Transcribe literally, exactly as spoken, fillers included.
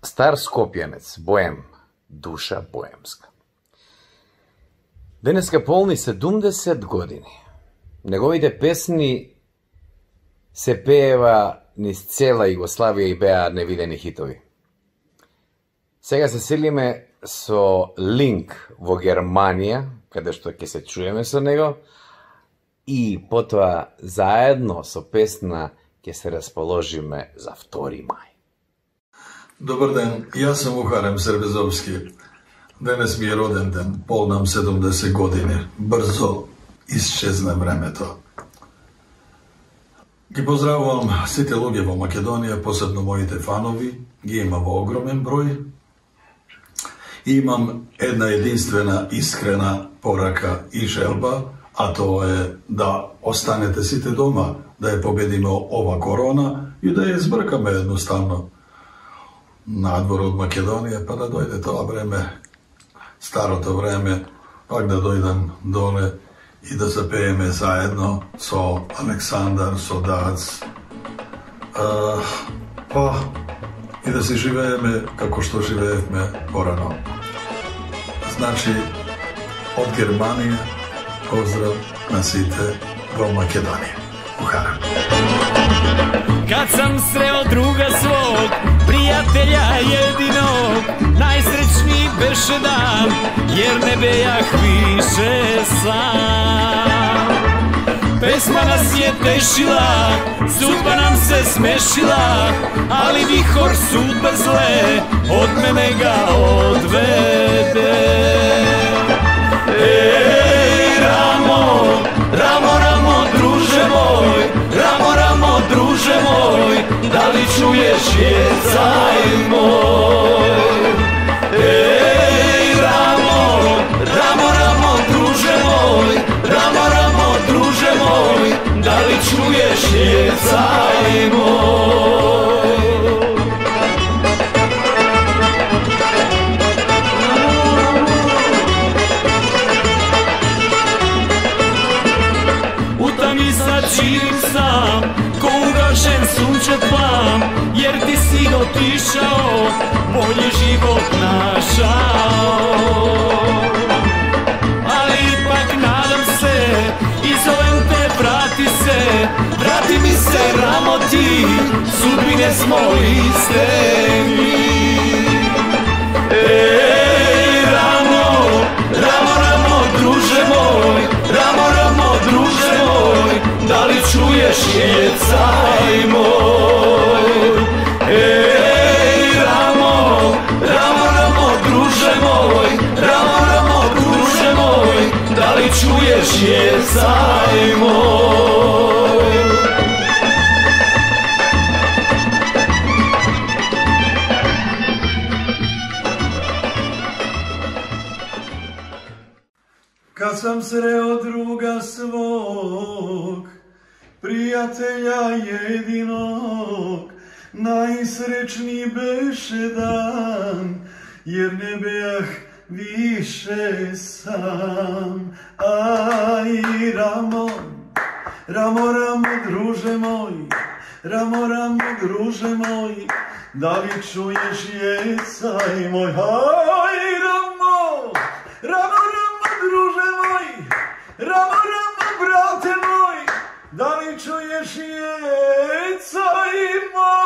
Стар скопјанец, боем, душа боемска. Денеска полни седумдесет години. Неговите песни се пеева низ цела Југославија и беа невидени хитови. Сега се селиме со линк во Германија, каде што ќе се чуеме со него, и потоа заедно со песна ќе се расположиме за втори мај. Добар ден, јас сум Ухарем Сербезовски. Денес ми е роден ден, полнам седумдесет години. Брзо исчезна времето. Ги поздравувам сите луѓе во Македонија, посебно моите фанови, ги има во огромен број. И имам една единствена, искрена порака и желба, а тоа е да останете сите дома, да ја победиме ова корона и да ја избркаме едноставно надвор од Македонија, па да дојде тоа време, старото време, пак да дојдам доле и да запееме заедно со Александар, со Дац, а, па и да се живееме како што живеевме порано. Значи, од Германија, поздрав на сите во Македонија. Ухарам. Kad sam sreo druga svog, prijatelja jedinog, najsrećniji beše dan, jer ne bejah više sam. Pesma nas je tešila, sudba nam se smešila, ali vihor sudbe zle od mene ga odvede. Ej, Ramo, Ramo, Ramo, druže moj, Ramo, Ramo, druže moj, da li čuješ jecaj moj? Ej, Ramo, Ramo, Ramo, druže moj, Ramo, Ramo, druže moj, da li čuješ jecaj moj? Živim sam, ko ugašen sunčev plam, jer ti si otišao, bolji život našao. Ali ipak nadam se, i zovem te, vrati se, vrati mi se, Ramo, ti, sudbine smo iste mi. Ej, Ramo, Ramo, Ramo, druže moj, Ramo, Ramo, druže moj, da li čuješ jecaj moj? Ej, Ramo, Ramo, Ramo, druže moj, Ramo, Ramo, druže moj, da li čuješ jecaj moj? Kad sam sreo druga svog, prijatelja jedinog, najsrećniji beše dan, jer ne bejah više sam. Aj, Ramo, Ramo, Ramo, druže moj, Ramo, Ramo, druže moj, da li čuješ jecaj moj? Aj, Ramo, Ramo, Ramo, druže moj, Ramo, Ramo, brate moj, da li čuješ jecaj moj?